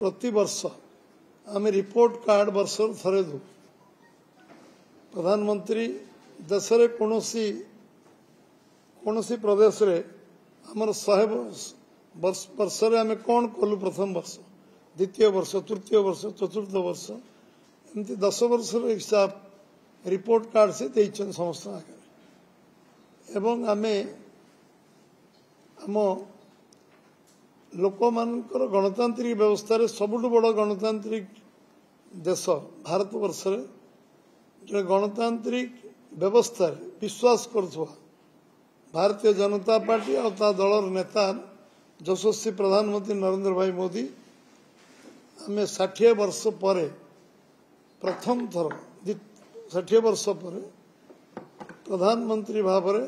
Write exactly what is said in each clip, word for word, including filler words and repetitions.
ପ୍ରତିବର୍ଷ ଆମେ report card ବର୍ଷରୁ ଥରେ ଦେଉ। ପ୍ରଧାନମନ୍ତ୍ରୀ ଦେଶରେ କୌଣସି କୌଣସି ପ୍ରଦେଶରେ ଆମର ଶହେ ବର୍ଷ ବର୍ଷରେ ଆମେ କ'ଣ କଲୁ, ପ୍ରଥମ ବର୍ଷ, ଦ୍ୱିତୀୟ ବର୍ଷ, ତୃତୀୟ ବର୍ଷ, ଚତୁର୍ଥ ବର୍ଷ, ଏମିତି ଦଶ ବର୍ଷର ହିସାବ ରିପୋର୍ଟ କାର୍ଡ଼ ସେ ଦେଇଛନ୍ତି ସମସ୍ତଙ୍କ ଆଗରେ। ଏବଂ ଆମେ ଆମ ଲୋକମାନଙ୍କର ଗଣତାନ୍ତ୍ରିକ ବ୍ୟବସ୍ଥାରେ ସବୁଠୁ ବଡ଼ ଗଣତାନ୍ତ୍ରିକ ଦେଶ ଭାରତବର୍ଷରେ ଜଣେ ଗଣତାନ୍ତ୍ରିକ ବ୍ୟବସ୍ଥାରେ ବିଶ୍ୱାସ କରୁଥିବା ଭାରତୀୟ ଜନତା ପାର୍ଟି ଆଉ ତା ଦଳର ନେତା ଯଶସ୍ୱୀ ପ୍ରଧାନମନ୍ତ୍ରୀ ନରେନ୍ଦ୍ର ଭାଇ ମୋଦି, ଆମେ ଷାଠିଏ ବର୍ଷ ପରେ ପ୍ରଥମ ଥର, ଷାଠିଏ ବର୍ଷ ପରେ ପ୍ରଧାନମନ୍ତ୍ରୀ ଭାବରେ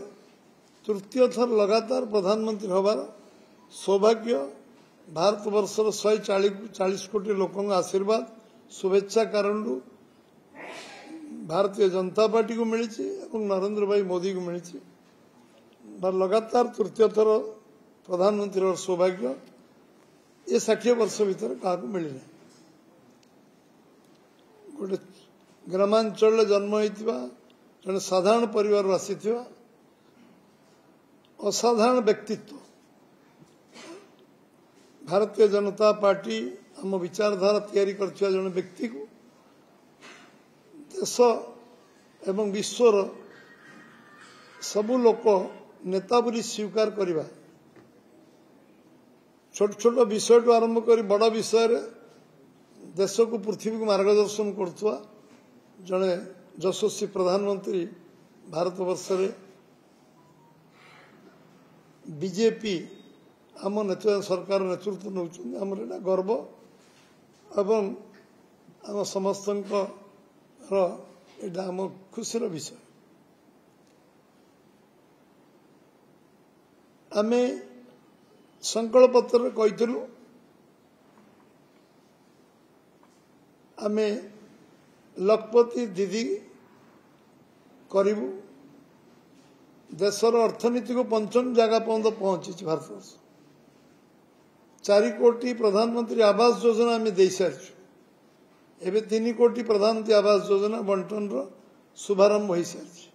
ତୃତୀୟ ଥର ଲଗାତାର ପ୍ରଧାନମନ୍ତ୍ରୀ ହେବାର ସୌଭାଗ୍ୟ ଭାରତବର୍ଷର ଶହେ ଚାଳିଶ କୋଟି ଲୋକଙ୍କ ଆଶୀର୍ବାଦ ଶୁଭେଚ୍ଛା କାରଣରୁ ଭାରତୀୟ ଜନତା ପାର୍ଟିକୁ ମିଳିଛି ଏବଂ ନରେନ୍ଦ୍ର ଭାଇ ମୋଦିକୁ ମିଳିଛି। ଲଗାତାର ତୃତୀୟ ଥର ପ୍ରଧାନମନ୍ତ୍ରୀ ହେବାର ସୌଭାଗ୍ୟ ଏ ଷାଠିଏ ବର୍ଷ ଭିତରେ କାହାକୁ ମିଳିନାହିଁ। ଗୋଟେ ଗ୍ରାମାଞ୍ଚଳରେ ଜନ୍ମ ହୋଇଥିବା ଜଣେ ସାଧାରଣ ପରିବାରରୁ ଆସିଥିବା ଅସାଧାରଣ ବ୍ୟକ୍ତିତ୍ୱ, ଭାରତୀୟ ଜନତା ପାର୍ଟି ଆମ ବିଚାରଧାରା ତିଆରି କରିଥିବା ଜଣେ ବ୍ୟକ୍ତିକୁ ଦେଶ ଏବଂ ବିଶ୍ୱର ସବୁ ଲୋକ ନେତା ବୋଲି ସ୍ୱୀକାର କରିବା, ଛୋଟ ଛୋଟ ବିଷୟଠୁ ଆରମ୍ଭ କରି ବଡ଼ ବିଷୟରେ ଦେଶକୁ ପୃଥିବୀକୁ ମାର୍ଗଦର୍ଶନ କରୁଥିବା ଜଣେ ଯଶସ୍ୱୀ ପ୍ରଧାନମନ୍ତ୍ରୀ ଭାରତବର୍ଷରେ ବିଜେପି ଆମ ନେତୃତ୍ୱ ସରକାର ନେତୃତ୍ୱ ନେଉଛନ୍ତି। ଆମର ଏଇଟା ଗର୍ବ ଏବଂ ଆମ ସମସ୍ତଙ୍କର ଏଇଟା ଆମ ଖୁସିର ବିଷୟ। ଆମେ ସଂକଳ୍ପ ପତ୍ରରେ କହିଥିଲୁ ଆମେ ଲଖପତି ଦିଦି କରିବୁ। ଦେଶର ଅର୍ଥନୀତିକୁ ପଞ୍ଚମ ଜାଗା ପର୍ଯ୍ୟନ୍ତ ପହଞ୍ଚିଛି ଭାରତବର୍ଷ। ଚାରି କୋଟି ପ୍ରଧାନମନ୍ତ୍ରୀ ଆବାସ ଯୋଜନା ଆମେ ଦେଇସାରିଛୁ। ଏବେ ତିନି କୋଟି ପ୍ରଧାନମନ୍ତ୍ରୀ ଆବାସ ଯୋଜନା ବଣ୍ଟନର ଶୁଭାରମ୍ଭ ହୋଇସାରିଛି।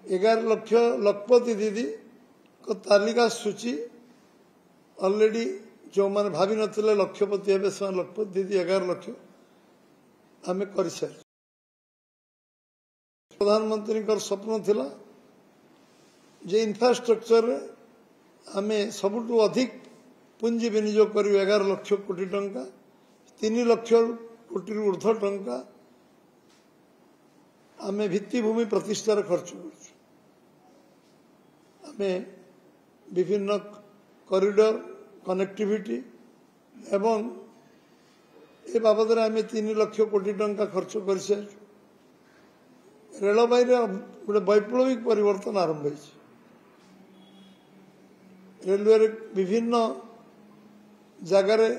ଏଗାର ଲକ୍ଷ ଲଖପତି ଦିଦିଙ୍କ ତାଲିକା ସୂଚୀ ଅଲରେଡି ଯେଉଁମାନେ ଭାବିନଥିଲେ ଲକ୍ଷପତି ହେବେ ସେମାନେ ଲକ୍ଷପତି ଦିଦି ଏଗାର ଲକ୍ଷ ଆମେ କରିସାରିଛୁ। ପ୍ରଧାନମନ୍ତ୍ରୀଙ୍କର ସ୍ୱପ୍ନ ଥିଲା ଯେ ଇନଫ୍ରାଷ୍ଟ୍ରକ୍ଚରରେ ଆମେ ସବୁଠୁ ଅଧିକ ପୁଞ୍ଜି ବିନିଯୋଗ କରିବୁ, ଏଗାର ଲକ୍ଷ କୋଟି ଟଙ୍କା, ତିନି ଲକ୍ଷ କୋଟିରୁ ଉର୍ଦ୍ଧ୍ୱ ଟଙ୍କା ଆମେ ଭିତ୍ତିଭୂମି ପ୍ରତିଷ୍ଠାରେ ଖର୍ଚ୍ଚ କରୁଛୁ। ଆମେ ବିଭିନ୍ନ କରିଡର କନେକ୍ଟିଭିଟି ଏବଂ ଏ ବାବଦରେ ଆମେ ତିନି ଲକ୍ଷ କୋଟି ଟଙ୍କା ଖର୍ଚ୍ଚ କରିସାରିଛୁ। ରେଳବାଇରେ ଗୋଟେ ବୈପ୍ଳବିକ ପରିବର୍ତ୍ତନ ଆରମ୍ଭ ହୋଇଛି। ରେଲୱେରେ ବିଭିନ୍ନ ଜାଗାରେ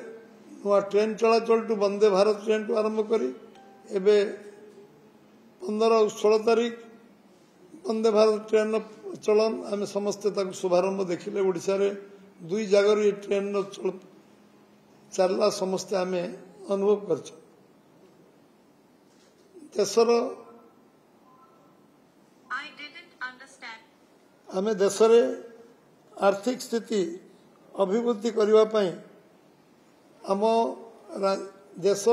ନୂଆ ଟ୍ରେନ୍ ଚଳାଚଳଠୁ ବନ୍ଦେ ଭାରତ ଟ୍ରେନ୍ଠୁ ଆରମ୍ଭ କରି ଏବେ ପନ୍ଦର ଆଉ ଷୋହଳ ତାରିଖ ବନ୍ଦେ ଭାରତ ଟ୍ରେନ୍ର ଚଳନ ଆମେ ସମସ୍ତେ ତାକୁ ଶୁଭାରମ୍ଭ ଦେଖିଲେ। ଓଡ଼ିଶାରେ ଦୁଇ ଜାଗାରୁ ଏ ଟ୍ରେନ୍ର ଚାଲିଲା, ସମସ୍ତେ ଆମେ ଅନୁଭବ କରିଛୁ। ଦେଶର ଆମେ ଦେଶରେ ଆର୍ଥିକ ସ୍ଥିତି ଅଭିବୃଦ୍ଧି କରିବା ପାଇଁ ଆମ ଦେଶ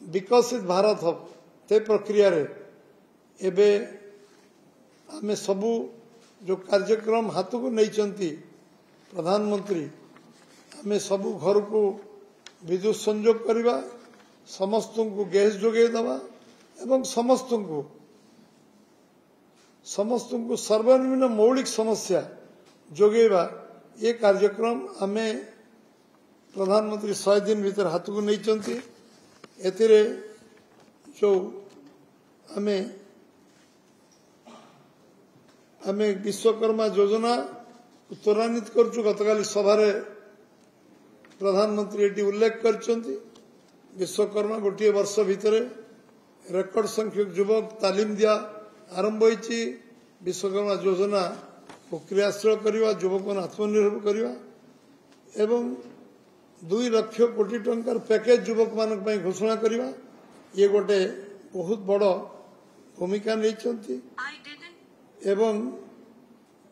ବିକଶିତ ଭାରତ ହେବ ସେ ପ୍ରକ୍ରିୟାରେ ଏବେ ଆମେ ସବୁ ଯେଉଁ କାର୍ଯ୍ୟକ୍ରମ ହାତକୁ ନେଇଛନ୍ତି ପ୍ରଧାନମନ୍ତ୍ରୀ, ଆମେ ସବୁ ଘରକୁ ବିଦ୍ୟୁତ ସଂଯୋଗ କରିବା, ସମସ୍ତଙ୍କୁ ଗ୍ୟାସ୍ ଯୋଗାଇ ଦେବା ଏବଂ ସମସ୍ତଙ୍କୁ ସମସ୍ତଙ୍କୁ ସର୍ବନିମ୍ନ ମୌଳିକ ସମସ୍ୟା ଯୋଗାଇବା, ଏ କାର୍ଯ୍ୟକ୍ରମ ଆମେ ପ୍ରଧାନମନ୍ତ୍ରୀ ଶହେ ଦିନ ଭିତରେ ହାତକୁ ନେଇଛନ୍ତି। ଏଥିରେ ଯେଉଁ ଆମେ ଆମେ ବିଶ୍ୱକର୍ମା ଯୋଜନା ତ୍ୱରାନ୍ୱିତ କରୁଛୁ। ଗତକାଲି ସଭାରେ ପ୍ରଧାନମନ୍ତ୍ରୀ ଏଠି ଉଲ୍ଲେଖ କରିଛନ୍ତି ବିଶ୍ୱକର୍ମା ଗୋଟିଏ ବର୍ଷ ଭିତରେ ରେକର୍ଡ ସଂଖ୍ୟକ ଯୁବକ ତାଲିମ ଦିଆ ଆରମ୍ଭ ହୋଇଛି। ବିଶ୍ୱକର୍ମା ଯୋଜନା କ୍ରିୟାଶୀଳ କରିବା, ଯୁବକମାନେ ଆତ୍ମନିର୍ଭର କରିବା ଏବଂ ଦୁଇ ଲକ୍ଷ କୋଟି ଟଙ୍କାର ପ୍ୟାକେଜ ଯୁବକମାନଙ୍କ ପାଇଁ ଘୋଷଣା କରିବା ଇଏ ଗୋଟେ ବହୁତ ବଡ଼ ଭୂମିକା ନେଇଛନ୍ତି I didn't. ଏବଂ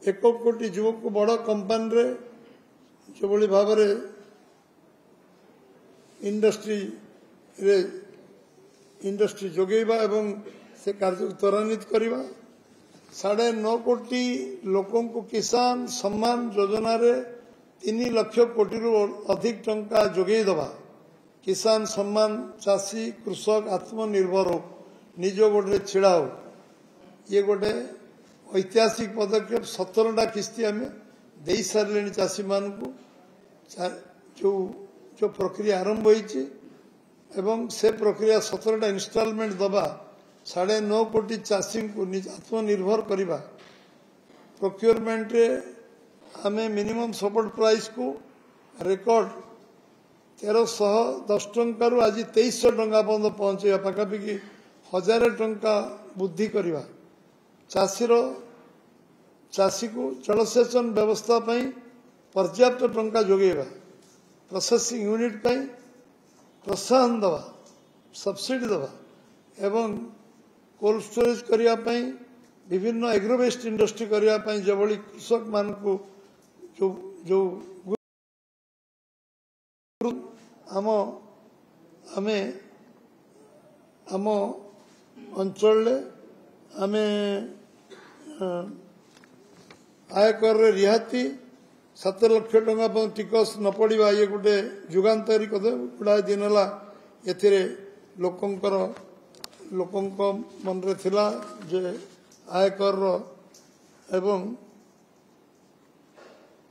ଏକ କୋଟି ଯୁବକକୁ ବଡ଼ କମ୍ପାନୀରେ ଯେଭଳି ଭାବରେ ଇଣ୍ଡଷ୍ଟ୍ରିରେ ଇଣ୍ଡଷ୍ଟ୍ରି ଯୋଗାଇବା ଏବଂ ସେ କାର୍ଯ୍ୟକୁ ତ୍ୱରାନ୍ୱିତ କରିବା ସାଢ଼େ ନଅ କୋଟି ଲୋକଙ୍କୁ କିଷାନ ସମ୍ମାନ ଯୋଜନାରେ ତିନି ଲକ୍ଷ କୋଟିରୁ ଅଧିକ ଟଙ୍କା ଯୋଗାଇ ଦେବା କିଷାନ ସମ୍ମାନ ଚାଷୀ କୃଷକ ଆତ୍ମନିର୍ଭର ହଉ ନିଜ ଗୋଡ଼ରେ ଛିଡ଼ା ହଉ ଇଏ ଗୋଟେ ଐତିହାସିକ ପଦକ୍ଷେପ ସତରଟା କିସ୍ତି ଆମେ ଦେଇ ସାରିଲେଣି ଚାଷୀମାନଙ୍କୁ ଯେଉଁ ଯେଉଁ ପ୍ରକ୍ରିୟା ଆରମ୍ଭ ହୋଇଛି ଏବଂ ସେ ପ୍ରକ୍ରିୟା ସତରଟା ଇନଷ୍ଟଲମେଣ୍ଟ ଦେବା ସାଢ଼େ ନଅ କୋଟି ଚାଷୀଙ୍କୁ ନିଜ ଆତ୍ମନିର୍ଭର କରିବା ପ୍ରୋକ୍ୟୁରମେଣ୍ଟରେ ଆମେ ମିନିମମ୍ ସପୋର୍ଟ ପ୍ରାଇସ୍କୁ ରେକର୍ଡ ତେରଶହ ଦଶ ଟଙ୍କାରୁ ଆଜି ତେଇଶଶହ ଟଙ୍କା ପର୍ଯ୍ୟନ୍ତ ପହଞ୍ଚେଇବା ପାଖାପାଖି ହଜାରେ ଟଙ୍କା ବୃଦ୍ଧି କରିବା ଚାଷୀର ଚାଷୀକୁ ଜଳସେଚନ ବ୍ୟବସ୍ଥା ପାଇଁ ପର୍ଯ୍ୟାପ୍ତ ଟଙ୍କା ଯୋଗାଇବା ପ୍ରୋସେସିଂ ୟୁନିଟ୍ ପାଇଁ ପ୍ରୋତ୍ସାହନ ଦେବା ସବସିଡି ଦେବା ଏବଂ କୋଲ୍ଡ ଷ୍ଟୋରେଜ କରିବା ପାଇଁ ବିଭିନ୍ନ ଏଗ୍ରୋବେସ୍ଡ ଇଣ୍ଡଷ୍ଟ୍ରି କରିବା ପାଇଁ ଯେଭଳି କୃଷକମାନଙ୍କୁ ଯେଉଁ ଯେଉଁ ଆମ ଆମେ ଆମ ଅଞ୍ଚଳରେ ଆମେ ଆୟକରରେ ରିହାତି ସାତ ଲକ୍ଷ ଟଙ୍କା ପର୍ଯ୍ୟନ୍ତ ଟିକସ ନ ପଡ଼ିବା ଇଏ ଗୋଟେ ଯୁଗାନ୍ତକାରୀ କଥା ଗୁଡ଼ାଏ ଦିନ ହେଲା ଏଥିରେ ଲୋକଙ୍କର ଲୋକଙ୍କ ମନରେ ଥିଲା ଯେ ଆୟକରର ଏବଂ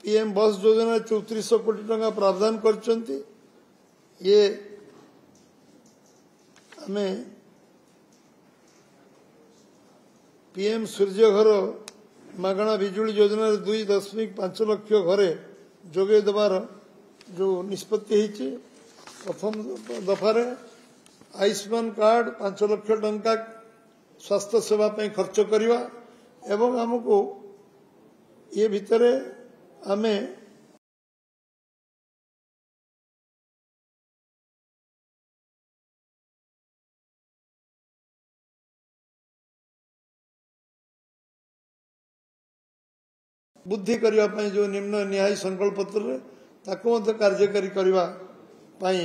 ପିଏମ୍ ବସ୍ ଯୋଜନାରେ ଚଉତିରିଶଶହ କୋଟି ଟଙ୍କା ପ୍ରାବଧାନ କରିଛନ୍ତି ଇଏ ଆମେ ପିଏମ୍ ସୂର୍ଯ୍ୟ ଘର ମାଗଣା ବିଜୁଳି ଯୋଜନାରେ ଦୁଇ ଦଶମିକ ପାଞ୍ଚ ଲକ୍ଷ ଘରେ ଯୋଗାଇ ଦେବାର ଯେଉଁ ନିଷ୍ପତ୍ତି ହେଇଛି ପ୍ରଥମ ଦଫାରେ ଆୟୁଷ୍ମାନ କାର୍ଡ ପାଞ୍ଚ ଲକ୍ଷ ଟଙ୍କା ସ୍ୱାସ୍ଥ୍ୟ ସେବା ପାଇଁ ଖର୍ଚ୍ଚ କରିବା ଏବଂ ଆମକୁ ଇଏ ଭିତରେ ଆମେ ବୃଦ୍ଧି କରିବା ପାଇଁ ଯେଉଁ ନିମ୍ନ ନିହାଇ ସଂକଳ୍ପ ପତ୍ରରେ ତାକୁ ମଧ୍ୟ କାର୍ଯ୍ୟକାରୀ କରିବା ପାଇଁ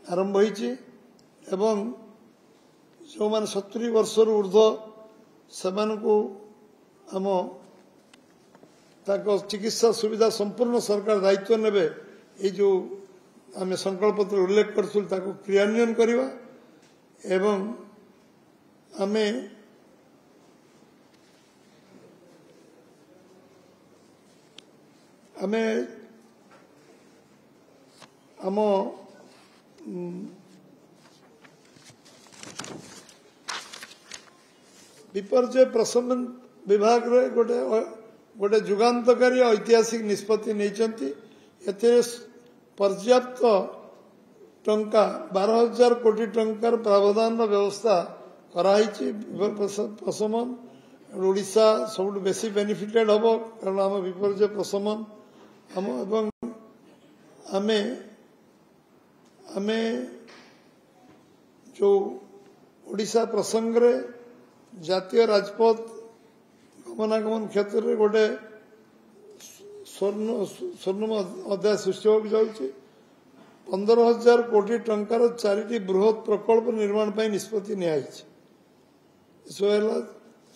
ଆରମ୍ଭ ହୋଇଛି ଏବଂ ଯେଉଁମାନେ ସତୁରି ବର୍ଷରୁ ଉର୍ଦ୍ଧ୍ୱ ସେମାନଙ୍କୁ ଆମ ତାଙ୍କ ଚିକିତ୍ସା ସୁବିଧା ସମ୍ପୂର୍ଣ୍ଣ ସରକାର ଦାୟିତ୍ୱ ନେବେ ଏଇ ଯେଉଁ ଆମେ ସଂକଳ୍ପତ୍ର ଉଲ୍ଲେଖ କରିଥିଲୁ ତାକୁ କ୍ରିୟାନ୍ୱୟନ କରିବା ଏବଂ ଆମେ ଆମେ ଆମ ବିପର୍ଯ୍ୟୟ ପ୍ରଶମନ ବିଭାଗରେ ଗୋଟେ ଗୋଟେ ଯୁଗାନ୍ତକାରୀ ଐତିହାସିକ ନିଷ୍ପତ୍ତି ନେଇଛନ୍ତି ଏଥିରେ ପର୍ଯ୍ୟାପ୍ତ ଟଙ୍କା ବାର ହଜାର କୋଟି ଟଙ୍କାର ପ୍ରାବଧାନର ବ୍ୟବସ୍ଥା କରାହେଇଛି ପ୍ରଶମନ ଓଡ଼ିଶା ସବୁଠୁ ବେଶୀ ବେନିଫିଟେଡ୍ ହେବ କାରଣ ଆମ ବିପର୍ଯ୍ୟୟ ପ୍ରଶମନ ଆମ ଏବଂ ଆମେ ଆମେ ଯେଉଁ ଓଡ଼ିଶା ପ୍ରସଙ୍ଗରେ ଜାତୀୟ ରାଜପଥ ଗମନାଗମନ କ୍ଷେତ୍ରରେ ଗୋଟେ ସ୍ୱର୍ଣ୍ଣ ସ୍ୱର୍ଣ୍ଣମ ଅଧ୍ୟାୟ ସୃଷ୍ଟି ହେବାକୁ ଯାଉଛି ପନ୍ଦର ହଜାର କୋଟି ଟଙ୍କାର ଚାରିଟି ବୃହତ ପ୍ରକଳ୍ପ ନିର୍ମାଣ ପାଇଁ ନିଷ୍ପତ୍ତି ନିଆଯାଇଛି ଏସବୁ ହେଲା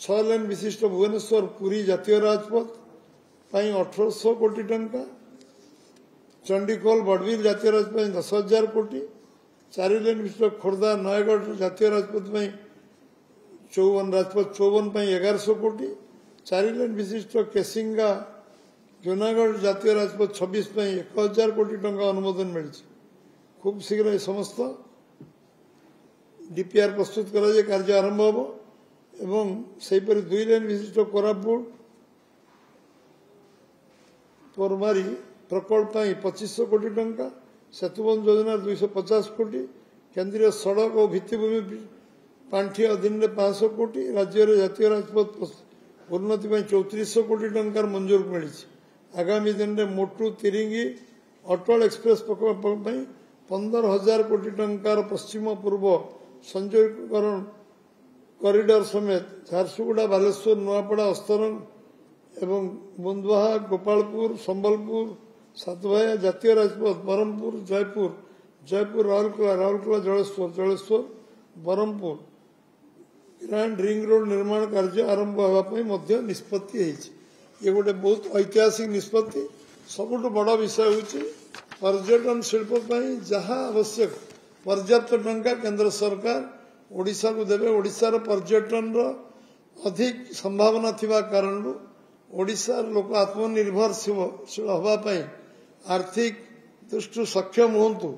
ଛଅ ଲେନ୍ ବିଶିଷ୍ଟ ଭୁବନେଶ୍ୱର ପୁରୀ ଜାତୀୟ ରାଜପଥ ପାଇଁ ଅଠରଶହ କୋଟି ଟଙ୍କା ଚଣ୍ଡିଖୋଲ ବଡ଼ବିଲ ଜାତୀୟ ରାଜପଥ ପାଇଁ ଦଶ ହଜାର କୋଟି ଚାରି ଲେନ୍ ବିଶିଷ୍ଟ ଖୋର୍ଦ୍ଧା ନୟାଗଡ଼ ଜାତୀୟ ରାଜପଥ ପାଇଁ ଚଉବନ ରାଜପଥ ଚଉବନ ପାଇଁ ଏଗାରଶହ କୋଟି ଚାରି ଲେନ୍ ବିଶିଷ୍ଟ କେସିଙ୍ଗା ଜୁନାଗଡ଼ ଜାତୀୟ ରାଜପଥ ଛବିଶ ପାଇଁ ଏକ ହଜାର କୋଟି ଟଙ୍କା ଅନୁମୋଦନ ମିଳିଛି ଖୁବ୍ ଶୀଘ୍ର ଏ ସମସ୍ତ ଡିପିଆର୍ ପ୍ରସ୍ତୁତ କରାଯାଇ କାର୍ଯ୍ୟ ଆରମ୍ଭ ହେବ ଏବଂ ସେହିପରି ଦୁଇ ଲେନ୍ ବିଶିଷ୍ଟ କୋରାପୁଟ ପରମାରୀ ପ୍ରକଳ୍ପ ପାଇଁ ପଚିଶଶହ କୋଟି ଟଙ୍କା ସେତୁବନ୍ଧ ଯୋଜନା ଦୁଇଶହ ପଚାଶ କୋଟି କେନ୍ଦ୍ରୀୟ ସଡ଼କ ଓ ଭିତ୍ତିଭୂମି ପାଣ୍ଠି ଅଧୀନରେ ପାଞ୍ଚଶହ କୋଟି ରାଜ୍ୟରେ ଜାତୀୟ ରାଜପଥ ଉନ୍ନତି ପାଇଁ ଚଉତିରିଶଶହ କୋଟି ଟଙ୍କାର ମଞ୍ଜୁର ମିଳିଛି ଆଗାମୀ ଦିନରେ ମୋଟୁ ତିରିଙ୍ଗି ଅଟଳ ଏକ୍ସପ୍ରେସ୍ ପ୍ରକଳ୍ପ ପାଇଁ ପନ୍ଦର ହଜାର କୋଟି ଟଙ୍କାର ପଶ୍ଚିମ ପୂର୍ବ ସଂଯୋଗୀକରଣ କରିଡର ସମେତ ଝାରସୁଗୁଡ଼ା, ବାଲେଶ୍ୱର, ନୂଆପଡ଼ା, ଅସ୍ତରଙ୍ଗ ଏବଂ ବନ୍ଦୁଆହା, ଗୋପାଳପୁର, ସମ୍ବଲପୁର, ସାତଭାୟା ଜାତୀୟ ରାଜପଥ, Brahmapur, Jeypore, Jeypore Rourkela, Rourkela Jaleswar, Jaleswar Brahmapur grand ring road ନିର୍ମାଣ କାର୍ଯ୍ୟ ଆରମ୍ଭ ହେବା ପାଇଁ ମଧ୍ୟ ନିଷ୍ପତ୍ତି ହେଇଛି। ଇଏ ଗୋଟେ ବହୁତ ଐତିହାସିକ ନିଷ୍ପତ୍ତି। ସବୁଠୁ ବଡ଼ ବିଷୟ ହେଉଛି ପର୍ଯ୍ୟଟନ ଶିଳ୍ପ ପାଇଁ ଯାହା ଆବଶ୍ୟକ ପର୍ଯ୍ୟାପ୍ତ ଟଙ୍କା କେନ୍ଦ୍ର ସରକାର ଓଡ଼ିଶାକୁ ଦେବେ। ଓଡ଼ିଶାର ପର୍ଯ୍ୟଟନର ଅଧିକ ସମ୍ଭାବନା ଥିବା କାରଣରୁ ଓଡ଼ିଶାର ଲୋକ ଆତ୍ମନିର୍ଭରଶୀଳ ହେବା ପାଇଁ ଆର୍ଥିକ ଦୃଷ୍ଟିରୁ ସକ୍ଷମ ହୁଅନ୍ତୁ,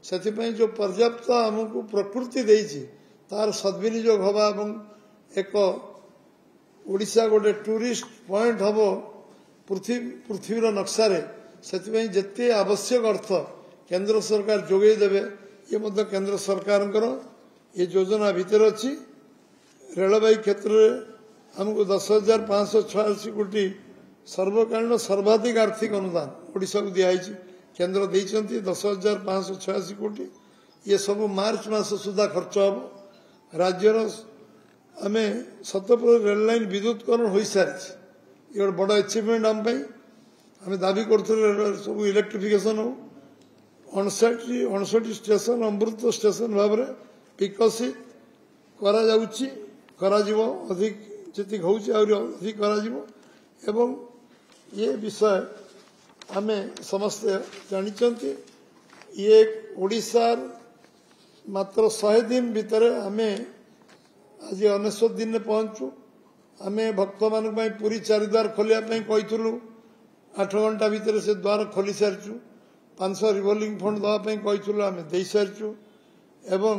ସେଥିପାଇଁ ଯେଉଁ ପର୍ଯ୍ୟାପ୍ତ ଆମକୁ ପ୍ରକୃତି ଦେଇଛି ତାର ସଦ୍ବିନିଯୋଗ ହେବା ଏବଂ ଏକ ଓଡ଼ିଶା ଗୋଟେ ଟୁରିଷ୍ଟ ପଏଣ୍ଟ ହେବ ପୃଥିବୀ ପୃଥିବୀର ନକ୍ସାରେ, ସେଥିପାଇଁ ଯେତେ ଆବଶ୍ୟକ ଅର୍ଥ କେନ୍ଦ୍ର ସରକାର ଯୋଗାଇ ଦେବେ। ଇଏ ମଧ୍ୟ କେନ୍ଦ୍ର ସରକାରଙ୍କର ଏ ଯୋଜନା ଭିତରେ ଅଛି। ରେଳବାଇ କ୍ଷେତ୍ରରେ ଆମକୁ ଦଶ ହଜାର ପାଞ୍ଚଶହ ଛୟାଅଶୀ କୋଟି ସର୍ବକାଳୀନ ସର୍ବାଧିକ ଆର୍ଥିକ ଅନୁଦାନ ଓଡ଼ିଶାକୁ ଦିଆହେଇଛି, କେନ୍ଦ୍ର ଦେଇଛନ୍ତି ଦଶ ହଜାର ପାଞ୍ଚଶହ ଛୟାଅଶୀ କୋଟି। ଇଏ ସବୁ ମାର୍ଚ୍ଚ ମାସ ସୁଦ୍ଧା ଖର୍ଚ୍ଚ ହେବ। ରାଜ୍ୟର ଆମେ ଶତପ୍ରତିଶତ ରେଳ ଲାଇନ୍ ବିଦ୍ୟୁତକରଣ ହୋଇସାରିଛି। ଇଏ ଗୋଟେ ବଡ଼ ଆଚିଭମେଣ୍ଟ ଆମ ପାଇଁ। ଆମେ ଦାବି କରୁଥିଲୁ ସବୁ ଇଲେକ୍ଟ୍ରିଫିକେସନ ହଉ। ଅଣଷଠି ଅଣଷଠି ଷ୍ଟେସନ ଅମୃତ ଷ୍ଟେସନ ଭାବରେ ବିକଶିତ କରାଯାଉଛି, କରାଯିବ, ଅଧିକ ଯେତିକି ହେଉଛି ଆହୁରି ଅଧିକ କରାଯିବ। ଏବଂ ଏ ବିଷୟ ଆମେ ସମସ୍ତେ ଜାଣିଛନ୍ତି। ଇଏ ଓଡ଼ିଶାର ମାତ୍ର ଶହେ ଦିନ ଭିତରେ ଆମେ ଆଜି ଅନେଶ୍ୱତ ଦିନରେ ପହଞ୍ଚୁ। ଆମେ ଭକ୍ତମାନଙ୍କ ପାଇଁ ପୁରୀ ଚାରିଦ୍ୱାର ଖୋଲିବା ପାଇଁ କହିଥିଲୁ, ଆଠ ଘଣ୍ଟା ଭିତରେ ସେ ଦ୍ୱାର ଖୋଲି ସାରିଛୁ। ପାଞ୍ଚଶହ ରିଭଲଭିଂ ଫଣ୍ଡ ଦେବା ପାଇଁ କହିଥିଲୁ, ଆମେ ଦେଇସାରିଛୁ। ଏବଂ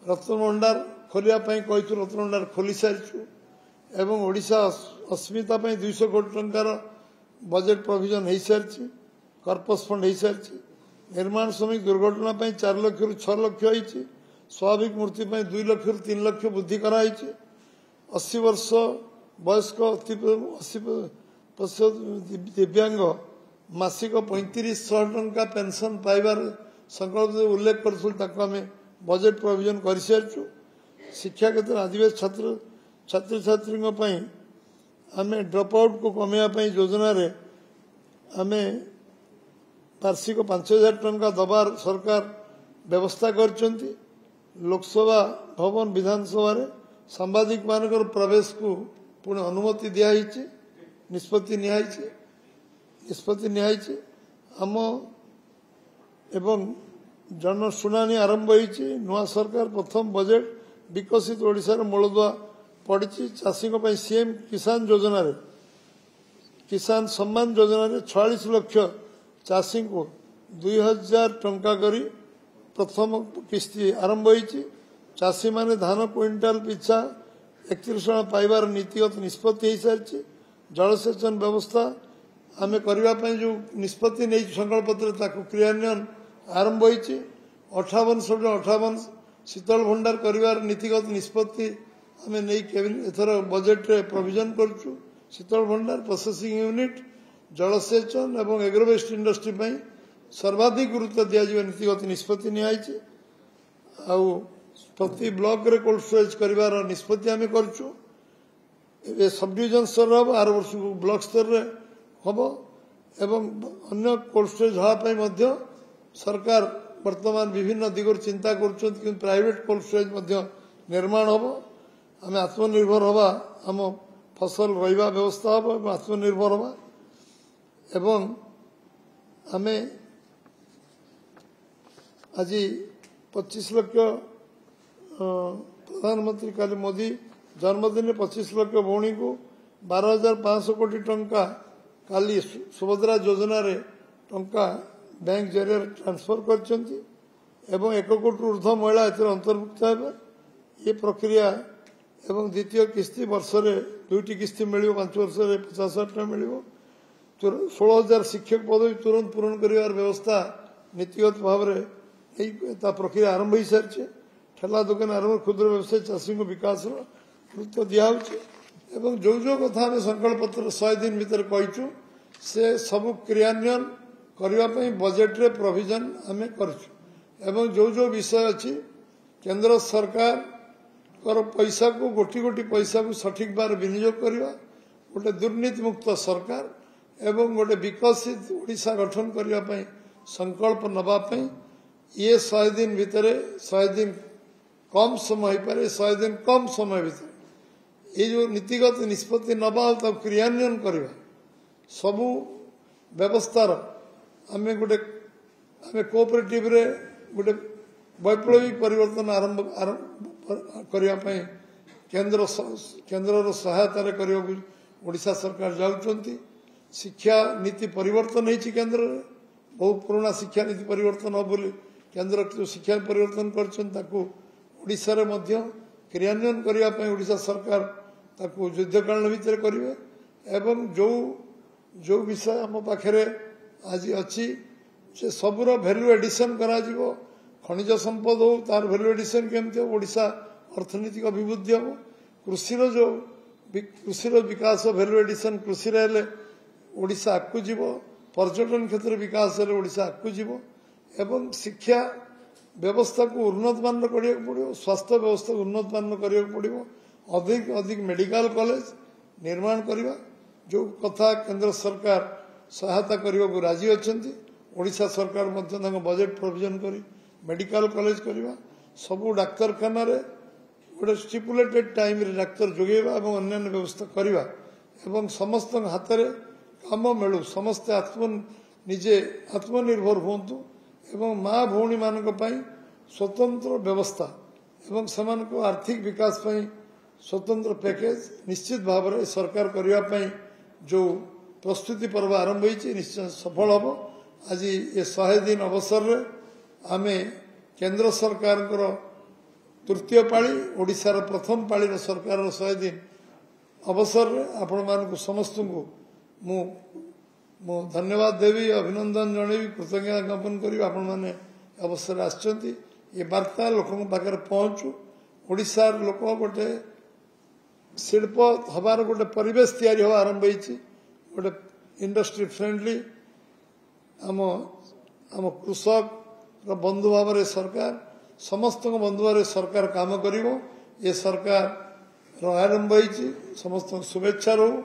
ରତ୍ନଭଣ୍ଡାର ଖୋଲିବା ପାଇଁ କହିଥିଲୁ, ରତ୍ନଭଣ୍ଡାର ଖୋଲି ସାରିଛୁ। ଏବଂ ଓଡ଼ିଶା ଅସ୍ମିତା ପାଇଁ ଦୁଇଶହ କୋଟି ଟଙ୍କାର ବଜେଟ୍ ପ୍ରୋଭିଜନ ହେଇସାରିଛି, କର୍ପସ୍ ଫଣ୍ଡ ହେଇସାରିଛି। ନିର୍ମାଣ ଶ୍ରମିକ ଦୁର୍ଘଟଣା ପାଇଁ ଚାରି ଲକ୍ଷରୁ ଛଅ ଲକ୍ଷ ହେଇଛି। ସ୍ୱାଭାବିକ ମୃତ୍ୟୁ ପାଇଁ ଦୁଇ ଲକ୍ଷରୁ ତିନି ଲକ୍ଷ ବୃଦ୍ଧି କରାହେଇଛି। ଅଶୀ ବର୍ଷ ବୟସ୍କ ଅତି ଅଶୀ ପ୍ରତିଶତ ଦିବ୍ୟାଙ୍ଗ ମାସିକ ପଇଁତିରିଶ ଶହ ଟଙ୍କା ପେନ୍ସନ୍ ପାଇବାର ସଂକଳ୍ପ ଉଲ୍ଲେଖ କରିଥିଲୁ, ତାକୁ ଆମେ ବଜେଟ୍ ପ୍ରୋଭିଜନ କରିସାରିଛୁ। ଶିକ୍ଷା କ୍ଷେତ୍ରରେ ଆଦିବାସୀ ଛାତ୍ର ଛାତ୍ରଛାତ୍ରୀଙ୍କ ପାଇଁ ଆମେ ଡ୍ରପ୍ ଆଉଟ୍କୁ କମାଇବା ପାଇଁ ଯୋଜନାରେ ଆମେ ବାର୍ଷିକ ପାଞ୍ଚ ହଜାର ଟଙ୍କା ଦେବାର ସରକାର ବ୍ୟବସ୍ଥା କରିଛନ୍ତି। ଲୋକସଭା ଭବନ ବିଧାନସଭାରେ ସାମ୍ବାଦିକମାନଙ୍କର ପ୍ରବେଶକୁ ପୁଣି ଅନୁମତି ଦିଆହେଇଛି, ନିଷ୍ପତ୍ତି ନିଆହେଇଛି ନିଷ୍ପତ୍ତି ନିଆହେଇଛି ଆମ ଏବଂ ଜନଶୁଣାଣି ଆରମ୍ଭ ହୋଇଛି। ନୂଆ ସରକାର ପ୍ରଥମ ବଜେଟ୍ ବିକଶିତ ଓଡ଼ିଶାର ମୂଳଦୁଆ ପଡ଼ିଛି। ଚାଷୀଙ୍କ ପାଇଁ ସିଏମ୍ କିଷାନ ଯୋଜନାରେ କିଷାନ ସମ୍ମାନ ଯୋଜନାରେ ଛୟାଳିଶ ଲକ୍ଷ ଚାଷୀଙ୍କୁ ଦୁଇ ହଜାର ଟଙ୍କା କରି ପ୍ରଥମ କିସ୍ତି ଆରମ୍ଭ ହୋଇଛି। ଚାଷୀମାନେ ଧାନ କୁଇଣ୍ଟାଲ ପିଛା ଏକତିରିଶ ଟଙ୍କା ପାଇବାର ନୀତିଗତ ନିଷ୍ପତ୍ତି ହୋଇସାରିଛି। ଜଳସେଚନ ବ୍ୟବସ୍ଥା ଆମେ କରିବା ପାଇଁ ଯେଉଁ ନିଷ୍ପତ୍ତି ନେଇଛୁ ସଂକଳ୍ପତ୍ରରେ, ତାକୁ କ୍ରିୟାନ୍ୱୟନ ଆରମ୍ଭ ହୋଇଛି। ଅଠାବନ ଶହ ଅଠାବନ ଶୀତଳ ଭଣ୍ଡାର କରିବାର ନୀତିଗତ ନିଷ୍ପତ୍ତି ଆମେ ନେଇ ଏଥର ବଜେଟ୍ରେ ପ୍ରୋଭିଜନ କରୁଛୁ। ଶୀତଳ ଭଣ୍ଡାର, ପ୍ରୋସେସିଂ ୟୁନିଟ୍, ଜଳସେଚନ ଏବଂ ଏଗ୍ରୋବେଷ୍ଟ ଇଣ୍ଡଷ୍ଟ୍ରି ପାଇଁ ସର୍ବାଧିକ ଗୁରୁତ୍ୱ ଦିଆଯିବ ନୀତିଗତ ନିଷ୍ପତ୍ତି ନିଆହେଇଛି। ଆଉ ପ୍ରତି ବ୍ଲକରେ କୋଲ୍ଡ ଷ୍ଟୋରେଜ୍ କରିବାର ନିଷ୍ପତ୍ତି ଆମେ କରୁଛୁ। ଏବେ ସବଡିଭିଜନ ସ୍ତରରେ ହେବ, ଆର ବର୍ଷକୁ ବ୍ଲକ ସ୍ତରରେ ହେବ ଏବଂ ଅନ୍ୟ କୋଲ୍ଡ ଷ୍ଟୋରେଜ୍ ହେବା ପାଇଁ ମଧ୍ୟ ସରକାର ବର୍ତ୍ତମାନ ବିଭିନ୍ନ ଦିଗରୁ ଚିନ୍ତା କରୁଛନ୍ତି। କିନ୍ତୁ ପ୍ରାଇଭେଟ୍ କୋଲ୍ଡ ଷ୍ଟୋରେଜ୍ ମଧ୍ୟ ନିର୍ମାଣ ହେବ। ଆମେ ଆତ୍ମନିର୍ଭର ହେବା, ଆମ ଫସଲ ରହିବା ବ୍ୟବସ୍ଥା ହେବ ଏବଂ ଆତ୍ମନିର୍ଭର ହେବା। ଏବଂ ଆମେ ଆଜି ପଚିଶ ଲକ୍ଷ ପ୍ରଧାନମନ୍ତ୍ରୀ କାଲି ମୋଦି ଜନ୍ମଦିନରେ ପଚିଶ ଲକ୍ଷ ଭଉଣୀଙ୍କୁ ବାର ହଜାର ପାଞ୍ଚଶହ କୋଟି ଟଙ୍କା କାଲି ସୁଭଦ୍ରା ଯୋଜନାରେ ଟଙ୍କା ବ୍ୟାଙ୍କ ଜରିଆରେ ଟ୍ରାନ୍ସଫର କରିଛନ୍ତି ଏବଂ ଏକ କୋଟିରୁ ଉର୍ଦ୍ଧ୍ୱ ମହିଳା ଏଥିରେ ଅନ୍ତର୍ଭୁକ୍ତ ହେବେ। ଏ ପ୍ରକ୍ରିୟା ଏବଂ ଦ୍ୱିତୀୟ କିସ୍ତି ବର୍ଷରେ ଦୁଇଟି କିସ୍ତି ମିଳିବ, ପାଞ୍ଚ ବର୍ଷରେ ପଚାଶ ହଜାର ଟଙ୍କା ମିଳିବ। ଷୋହଳ ହଜାର ଶିକ୍ଷକ ପଦବୀ ତୁରନ୍ତ ପୂରଣ କରିବାର ବ୍ୟବସ୍ଥା ନୀତିଗତ ଭାବରେ ଏଇ ତା ପ୍ରକ୍ରିୟା ଆରମ୍ଭ ହୋଇସାରିଛି। ଠେଲା ଦୋକାନ ଆରମ୍ଭ, କ୍ଷୁଦ୍ର ବ୍ୟବସାୟୀ ଚାଷୀଙ୍କ ବିକାଶର ଗୁରୁତ୍ୱ ଦିଆହେଉଛି ଏବଂ ଯେଉଁ ଯେଉଁ କଥା ଆମେ ସଂକଳ୍ପତ୍ର ଶହେ ଦିନ ଭିତରେ କହିଛୁ ସେ ସବୁ କ୍ରିୟାନ୍ୱୟନ କରିବା ପାଇଁ ବଜେଟରେ ପ୍ରୋଭିଜନ୍ ଆମେ କରିଛୁ ଏବଂ ଯେଉଁ ଯେଉଁ ବିଷୟ ଅଛି କେନ୍ଦ୍ର ସରକାରଙ୍କର ପଇସାକୁ ଗୋଟି ଗୋଟି ପଇସାକୁ ସଠିକ୍ ଭାବରେ ବିନିଯୋଗ କରିବା ଗୋଟେ ଦୁର୍ନୀତିମୁକ୍ତ ସରକାର ଏବଂ ଗୋଟେ ବିକଶିତ ଓଡ଼ିଶା ଗଠନ କରିବା ପାଇଁ ସଂକଳ୍ପ ନେବା ପାଇଁ ଇଏ ଶହେ ଦିନ ଭିତରେ ଶହେ ଦିନ କମ୍ ସମୟ ହେଇପାରେ ଶହେ ଦିନ କମ୍ ସମୟ ଭିତରେ ଏଇ ଯେଉଁ ନୀତିଗତ ନିଷ୍ପତ୍ତି ନେବା ଆଉ ତାକୁ କ୍ରିୟାନ୍ୱୟନ କରିବା ସବୁ ବ୍ୟବସ୍ଥାର ଆମେ ଗୋଟେ ଆମେ କୋଅପରେଟିଭରେ ଗୋଟେ ବୈପ୍ଳବିକ ପରିବର୍ତ୍ତନ ଆରମ୍ଭ କରିବା ପାଇଁ କେନ୍ଦ୍ର କେନ୍ଦ୍ରର ସହାୟତାରେ କରିବାକୁ ଓଡ଼ିଶା ସରକାର ଯାଉଛନ୍ତି ଶିକ୍ଷା ନୀତି ପରିବର୍ତ୍ତନ ହେଇଛି କେନ୍ଦ୍ରରେ ବହୁ ପୁରୁଣା ଶିକ୍ଷା ନୀତି ପରିବର୍ତ୍ତନ ହେବ ବୋଲି କେନ୍ଦ୍ର ଯେଉଁ ଶିକ୍ଷା ପରିବର୍ତ୍ତନ କରିଛନ୍ତି ତାକୁ ଓଡ଼ିଶାରେ ମଧ୍ୟ କ୍ରିୟାନ୍ୱୟନ କରିବା ପାଇଁ ଓଡ଼ିଶା ସରକାର ତାକୁ ଯୁଦ୍ଧକାଳୀନ ଭିତରେ କରିବେ ଏବଂ ଯେଉଁ ଯେଉଁ ବିଷୟ ଆମ ପାଖରେ ଆଜି ଅଛି ସେ ସବୁର ଭ୍ୟାଲୁ ଏଡିସନ୍ କରାଯିବ ଖଣିଜ ସମ୍ପଦ ହଉ ତାର ଭ୍ୟାଲୁ ଏଡିସନ୍ କେମିତି ହେବ ଓଡ଼ିଶା ଅର୍ଥନୈତିକ ଅଭିବୃଦ୍ଧି ହେବ କୃଷିର ଯେଉଁ କୃଷିର ବିକାଶ ଭ୍ୟାଲୁ ଏଡିସନ୍ କୃଷିରେ ହେଲେ ଓଡ଼ିଶା ଆଗକୁ ଯିବ ପର୍ଯ୍ୟଟନ କ୍ଷେତ୍ରରେ ବିକାଶ ହେଲେ ଓଡ଼ିଶା ଆଗକୁ ଯିବ ଏବଂ ଶିକ୍ଷା ବ୍ୟବସ୍ଥାକୁ ଉନ୍ନତମାନର କରିବାକୁ ପଡ଼ିବ ସ୍ୱାସ୍ଥ୍ୟ ବ୍ୟବସ୍ଥାକୁ ଉନ୍ନତମାନର କରିବାକୁ ପଡ଼ିବ ଅଧିକ ଅଧିକ ମେଡ଼ିକାଲ କଲେଜ ନିର୍ମାଣ କରିବା ଯେଉଁ କଥା କେନ୍ଦ୍ର ସରକାର ସହାୟତା କରିବାକୁ ରାଜି ଅଛନ୍ତି ଓଡ଼ିଶା ସରକାର ମଧ୍ୟ ତାଙ୍କ ବଜେଟ୍ ପ୍ରୋଭିଜନ୍ କରି ମେଡ଼ିକାଲ କଲେଜ କରିବା ସବୁ ଡାକ୍ତରଖାନାରେ ଗୋଟେ ଷ୍ଟିପୁଲେଟେଡ୍ ଟାଇମ୍ରେ ଡାକ୍ତର ଯୋଗାଇବା ଏବଂ ଅନ୍ୟାନ୍ୟ ବ୍ୟବସ୍ଥା କରିବା ଏବଂ ସମସ୍ତଙ୍କ ହାତରେ କାମ ମିଳୁ ସମସ୍ତେ ଆତ୍ମ ନିଜେ ଆତ୍ମନିର୍ଭର ହୁଅନ୍ତୁ ଏବଂ ମା ଭଉଣୀମାନଙ୍କ ପାଇଁ ସ୍ୱତନ୍ତ୍ର ବ୍ୟବସ୍ଥା ଏବଂ ସେମାନଙ୍କ ଆର୍ଥିକ ବିକାଶ ପାଇଁ ସ୍ୱତନ୍ତ୍ର ପ୍ୟାକେଜ ନିଶ୍ଚିତ ଭାବରେ ସରକାର କରିବା ପାଇଁ ଯେଉଁ ପ୍ରସ୍ତୁତି ପର୍ବ ଆରମ୍ଭ ହୋଇଛି ନିଶ୍ଚୟ ସଫଳ ହେବ ଆଜି ଏ ଶହେ ଦିନ ଅବସରରେ ଆମେ କେନ୍ଦ୍ର ସରକାରଙ୍କର ତୃତୀୟ ପାଳି ଓଡ଼ିଶାର ପ୍ରଥମ ପାଳିର ସରକାରର ଶହେ ଦିନ ଅବସରରେ ଆପଣମାନଙ୍କୁ ସମସ୍ତଙ୍କୁ ମୁଁ ମୁଁ ଧନ୍ୟବାଦ ଦେବି ଅଭିନନ୍ଦନ ଜଣେଇବି କୃତଜ୍ଞତା ଜ୍ଞାପନ କରିବି ଆପଣମାନେ ଅବସରରେ ଆସିଛନ୍ତି ଏ ବାର୍ତ୍ତା ଲୋକଙ୍କ ପାଖରେ ପହଞ୍ଚୁ ଓଡ଼ିଶାର ଲୋକ ଗୋଟେ ଶିଳ୍ପ ହେବାର ଗୋଟେ ପରିବେଶ ତିଆରି ହେବା ଆରମ୍ଭ ହେଇଛି ଗୋଟେ ଇଣ୍ଡଷ୍ଟ୍ରି ଫ୍ରେଣ୍ଡଲି ଆମ ଆମ କୃଷକର ବନ୍ଧୁ ଭାବରେ ସରକାର ସମସ୍ତଙ୍କ ବନ୍ଧୁ ଭାବରେ ସରକାର କାମ କରିବ ଏ ସରକାରର ଆରମ୍ଭ ହେଇଛି ସମସ୍ତଙ୍କ ଶୁଭେଚ୍ଛା ରହୁ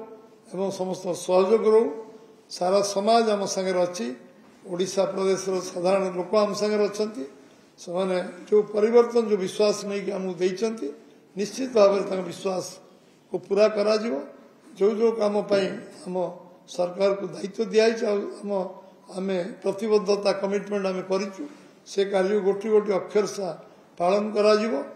ଏବଂ ସମସ୍ତଙ୍କ ସହଯୋଗ ରହୁ ସାରା ସମାଜ ଆମ ସାଙ୍ଗରେ ଅଛି ଓଡ଼ିଶା ପ୍ରଦେଶର ସାଧାରଣ ଲୋକ ଆମ ସାଙ୍ଗରେ ଅଛନ୍ତି ସେମାନେ ଯେଉଁ ପରିବର୍ତ୍ତନ ଯେଉଁ ବିଶ୍ୱାସ ନେଇକି ଆମକୁ ଦେଇଛନ୍ତି ନିଶ୍ଚିତ ଭାବରେ ତାଙ୍କ ବିଶ୍ୱାସକୁ ପୁରା କରାଯିବ ଯେଉଁ ଯେଉଁ କାମ ପାଇଁ ଆମ ସରକାରକୁ ଦାୟିତ୍ୱ ଦିଆହେଇଛି ଆଉ ଆମ ଆମେ ପ୍ରତିବଦ୍ଧତା କମିଟମେଣ୍ଟ ଆମେ କରିଛୁ ସେ କାର୍ଯ୍ୟକୁ ଗୋଟି ଗୋଟି ଅକ୍ଷର ପାଳନ କରାଯିବ।